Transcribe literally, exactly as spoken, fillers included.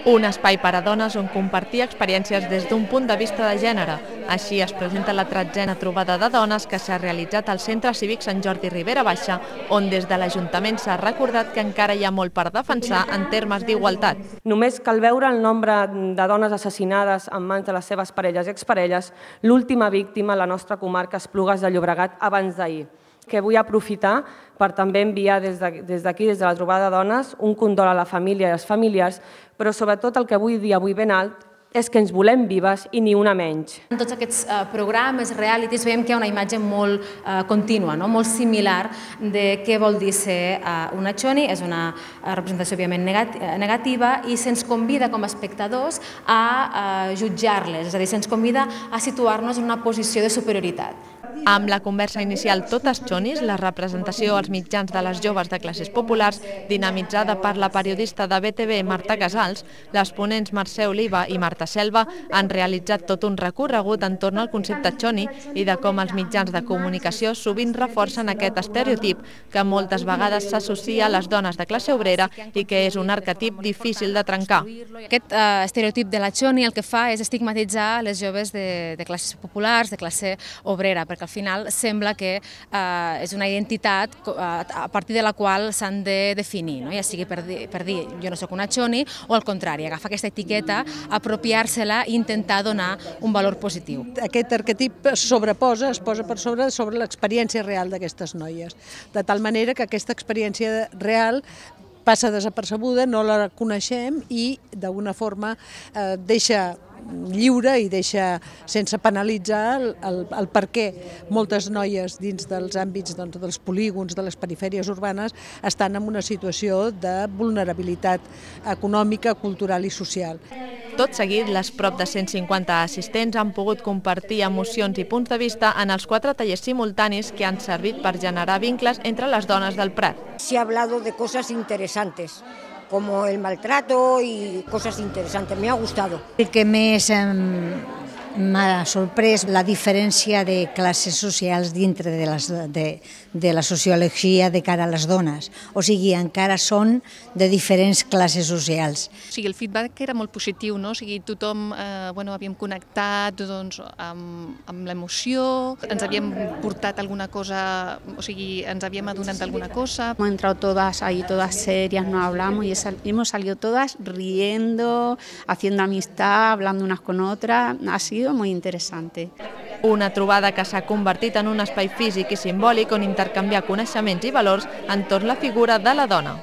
Un espai per a dones on compartir experiències des d'un punt de vista de gènere. Així es presenta la tretzena trobada de dones que s'ha realitzat al Centre Cívic Sant Jordi Ribera Baixa, on des de l'Ajuntament s'ha recordat que encara hi ha molt per defensar en termes d'igualtat. Només cal veure el nombre de dones assassinades en mans de les seves parelles i exparelles, l'última víctima a la nostra comarca Esplugues de Llobregat abans d'ahir, que vull aprofitar per també enviar des d'aquí, des de la trobada de dones, un condol a la família i als familiars, però sobretot el que vull dir avui ben alt és que ens volem vives i ni una menys. En tots aquests programes, realities, veiem que hi ha una imatge molt contínua, molt similar de què vol dir ser una choni. És una representació, òbviament, negativa i se'ns convida com a espectadors a jutjar-les, és a dir, se'ns convida a situar-nos en una posició de superioritat. Amb la conversa inicial Totes Chonis, la representació als mitjans de les joves de classes populars, dinamitzada per la periodista de B T V Marta Casals, les ponents Mercè Oliva i Marta Selva han realitzat tot un recorregut entorn al concepte choni i de com els mitjans de comunicació sovint reforcen aquest estereotip que moltes vegades s'associa a les dones de classe obrera i que és un arquetip difícil de trencar. Aquest estereotip de la choni el que fa és estigmatitzar les joves de classes populars, de classe obrera, perquè al final sembla que és una identitat a partir de la qual s'han de definir, ja sigui per dir jo no soc una choni o al contrari, agafar aquesta etiqueta, apropiar-se-la i intentar donar un valor positiu. Aquest arquetip sobreposa, es posa per sobre sobre l'experiència real d'aquestes noies, de tal manera que aquesta experiència real passa desapercebuda, no la coneixem i d'alguna forma deixa lliure i deixa sense penalitzar el per què moltes noies dins dels àmbits dels polígons, de les perifèries urbanes, estan en una situació de vulnerabilitat econòmica, cultural i social. Tot seguit, les prop de cent cinquanta assistents han pogut compartir emocions i punts de vista en els quatre tallers simultanis que han servit per generar vincles entre les dones del Prat. Se ha hablado de cosas interesantes, como el maltrato y cosas interesantes. Me ha gustado. El que més m'ha sorprès la diferència de classes socials dintre de, les, de, de la sociologia de cara a les dones. O sigui, encara són de diferents classes socials. O sigui, el feedback era molt positiu, no? O sigui, tothom eh, bueno, havíem connectat doncs, amb, amb l'emoció, ens havíem portat alguna cosa, o sigui, ens havíem adonat d'alguna cosa. Hemos entrado todas ahí, todas serias, nos hablamos y hemos salido todas riendo, haciendo amistad, hablando unas con otras. Ha sido muy interesante. Una trobada que s'ha convertit en un espai físic i simbòlic on intercanviar coneixements i valors entorn la figura de la dona.